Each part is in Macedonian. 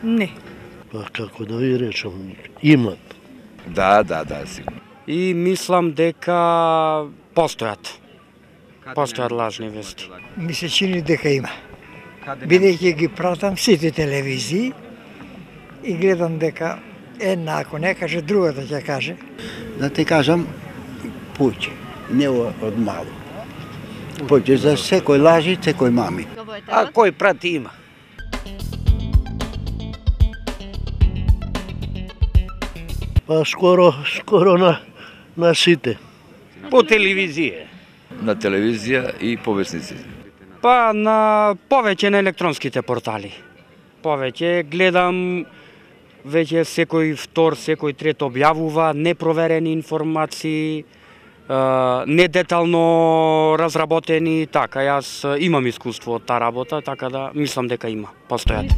Не. Па како да ви речам, имат. Да, сигурно. И мислам дека постојат. Постојат лажни вести. Ми се чини дека има. Бидејќи ги пратам сите телевизии и гледам дека една ако не каже, другата ќе каже. Да те кажам, повеќе, не од мало. Повеќе за секој лажи, секој мами. А кој прати има? Па скоро на сите. По телевизија. На телевизија и по весници. Па на повеќе на електронските портали. Повеќе гледам веќе секој втор, секој трет објавува непроверени информации, недетално разработени, така јас имам искуство од таа работа, така да мислам дека има, постојат.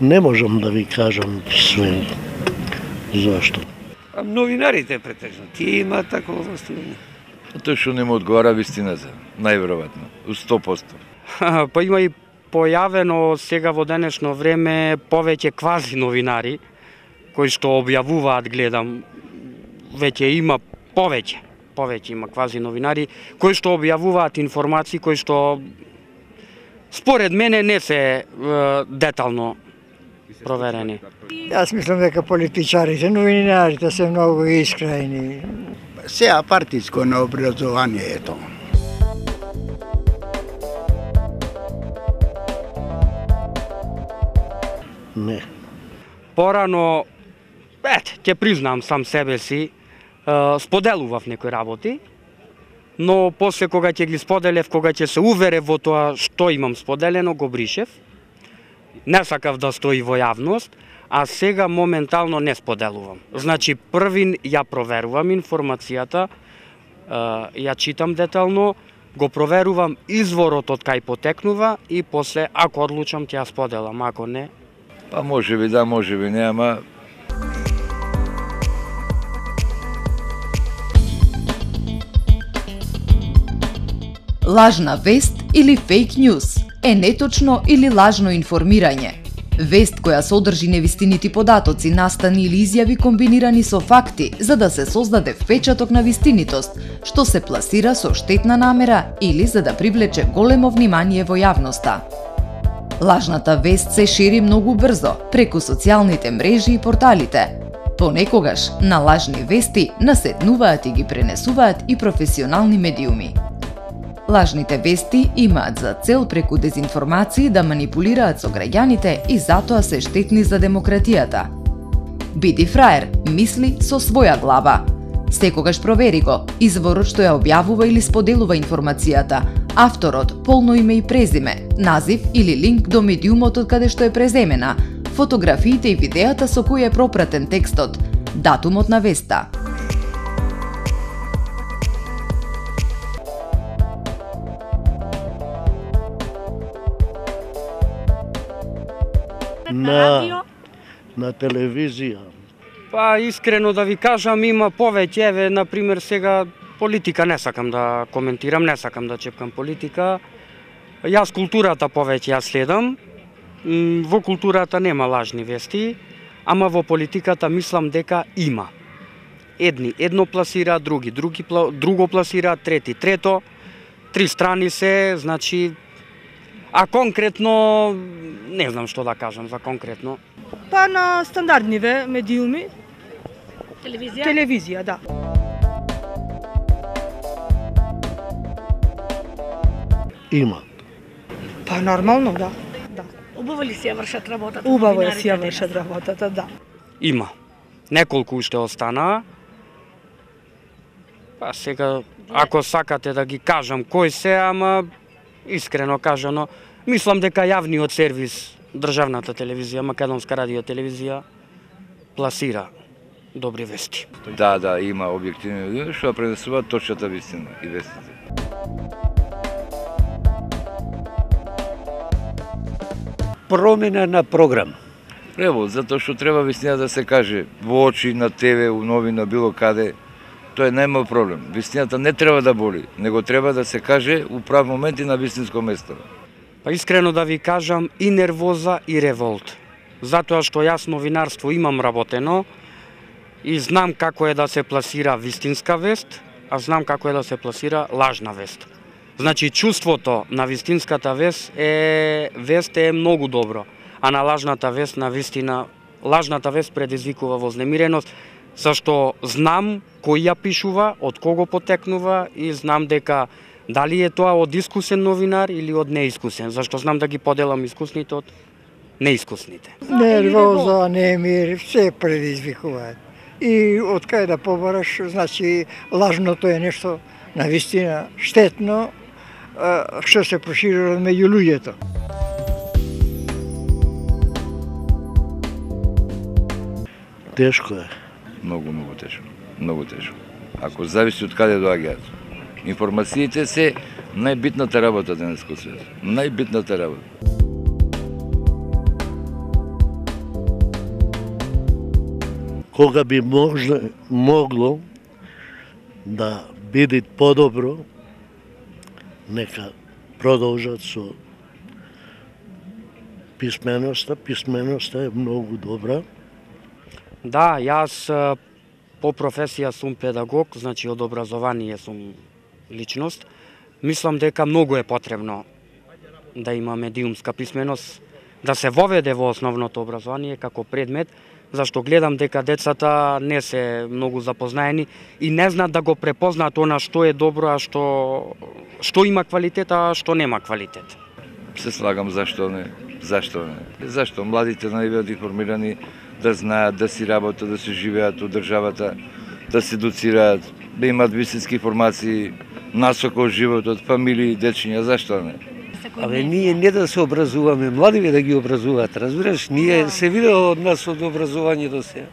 Не можам да ви кажам све. Зашто? Новинарите претежно, тие има такова властување. Тоа што не му одговара вистината, најверојатно, 100%. Па има и појавено сега во денешно време повеќе квази новинари кои што објавуваат, гледам, веќе има повеќе има квази новинари кои што објавуваат информации кои што според мене не се детално проверени. Јас мислам дека политичарите, новинарите се многу искрени. Сеа партиско на образованието. Не. Порано, ќе признам сам себе си, споделував некои работи, но после кога ќе ги споделев, кога ќе се уверев во тоа што имам споделено, го бришев. Не сакав да стои во јавност, а сега моментално не споделувам. Значи, првин ја проверувам информацијата, ја читам детално, го проверувам изворот од кај потекнува и после, ако одлучам, ќе ја споделам, ако не... Па може би да, може би не, ама... Лажна вест или фейк ньюс е неточно или лажно информирање. Вест која содржи невистинити податоци, настани или изјави комбинирани со факти за да се создаде впечаток на вистинитост, што се пласира со штетна намера или за да привлече големо внимание во јавноста. Лажната вест се шири многу брзо преку социјалните мрежи и порталите. Понекогаш на лажни вести наседнуваат и ги пренесуваат и професионални медиуми. Лажните вести имаат за цел преку дезинформации да манипулираат со граѓаните и затоа се штетни за демократијата. Биди фраер, мисли со своја глава. Секогаш провери го изворот што ја објавува или споделува информацијата, авторот, полно име и презиме, назив или линк до медиумот од каде што е преземена, фотографиите и видеата со кои е пропратен текстот, датумот на веста. На телевизија. Па, искрено да ви кажам, има повеќе, еве, например, сега политика не сакам да коментирам, не сакам да чепкам политика. Јас културата повеќе ја следам. Во културата нема лажни вести, ама во политиката мислам дека има. Едно пласира, друго пласира, трети трето, три страни се, значи, а конкретно, не знам што да кажам за конкретно. Па на стандардниве медиуми. Телевизија? Телевизија, да. Има. Па нормално, да. Убаво ли си ја вршат работата? Убаво си ја вршат работата, да. Има. Неколку уште останаа. Па сега, ако сакате да ги кажам кои се, ама искрено кажано, мислам дека јавниот сервис, државната телевизија, Македонска радио телевизија, пласира добри вести. Да, има објективни луѓе што пренесуваат точната вистина и вестите. Промена на програм. Ево, затоа што треба вистина да се каже во очи, на ТВ, у новина, било каде, тоа е најмал проблем. Вистината не треба да боли, него треба да се каже у прав момент и на вистинско место. Па искрено да ви кажам, и нервоза и револт. Затоа што јас новинарство имам работено и знам како е да се пласира вистинска вест, а знам како е да се пласира лажна вест. Значи, чувството на вистинската вест е многу добро, а на лажната вест, на вистина, лажната вест предизвикува вознемиреност, зашто знам кој ја пишува, од кого потекнува и знам дека дали е тоа од искусен новинар или од неискусен, зашто знам да ги поделам искусните од неискусните. Нервоза, немир, се предизвикуваат. И од кај да побараш, значи лажното е нешто навистина штетно, што се проширува меѓу луѓето. Тешко е. Многу тешко. Многу тешко. Ако зависи од каде доаѓаат. Информациите се најбитната работа денес во свет. Најбитната работа. Кога би могло да биде подобро, нека продолжат со писменоста. Писменоста е многу добра. Да, јас по професија сум педагог, значи од образование сум личност. Мислам дека многу е потребно да има медиумска писменост, да се воведе во основното образование како предмет, зашто гледам дека децата не се многу запознаени и не знаат да го препознаат она што е добро, а што има квалитет, а што нема квалитет. Се слагам зашто не. Зашто младите не бидат информирани, да знаат, да си работат, да се живеат од државата, да се доцираат, да имаат вистински информации, насока од животот, фамилии, дечиња, зашто не? Абе, ние не да се образуваме, младиве да ги образуваат, разбираш? Ние се видело од нас од образование до сега.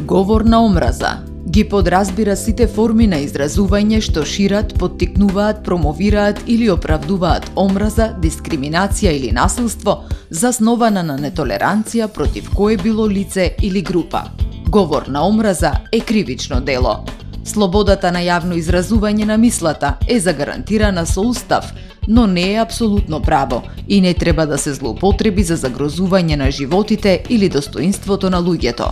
Говор на омраза ги подразбира сите форми на изразување што шират, поттикнуваат, промовираат или оправдуваат омраза, дискриминација или насилство, заснована на нетолеранција против кое било лице или група. Говор на омраза е кривично дело. Слободата на јавно изразување на мислата е загарантирана со устав, но не е апсолутно право и не треба да се злоупотреби за загрозување на животите или достоинството на луѓето.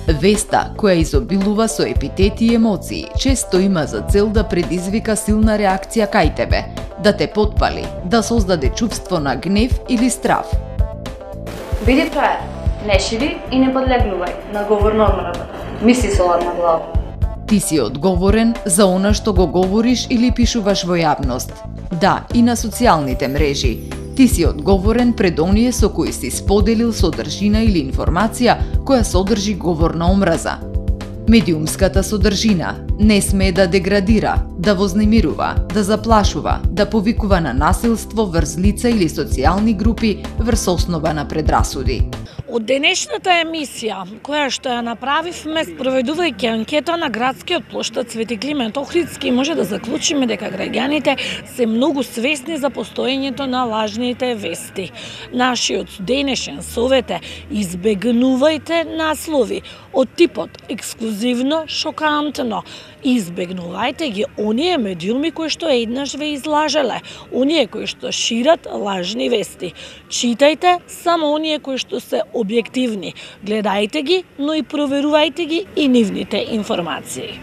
Веста, која изобилува со епитети и емоции, често има за цел да предизвика силна реакција кај тебе, да те потпали, да создаде чувство на гнев или страв. Биди фраер, не шири и не подлегнувај на говор на омраза. Мисли со ладна глава. Ти си одговорен за она што го говориш или пишуваш во јавност. Да, и на социјалните мрежи. Ти си одговорен пред оние со кои си споделил содржина или информација која содржи говор на омраза. Медиумската содржина не смее да деградира, да вознемирува, да заплашува, да повикува на насилство врз лица или социјални групи врз основа на предрасуди. Од денешната емисија, која што ја направивме спроведувајќи анкета на градскиот плоштад Свети Климент Охридски, може да заклучиме дека граѓаните се многу свесни за постоењето на лажните вести. Нашиот денешен совет е: избегнувајте наслови од типот ексклузивно, шокантно. Избегнувајте ги оние медиуми кои што еднаш ве излажеле, оние кои што шират лажни вести. Читајте само оние кои што се објективни. Гледајте ги, но и проверувајте ги и нивните информации.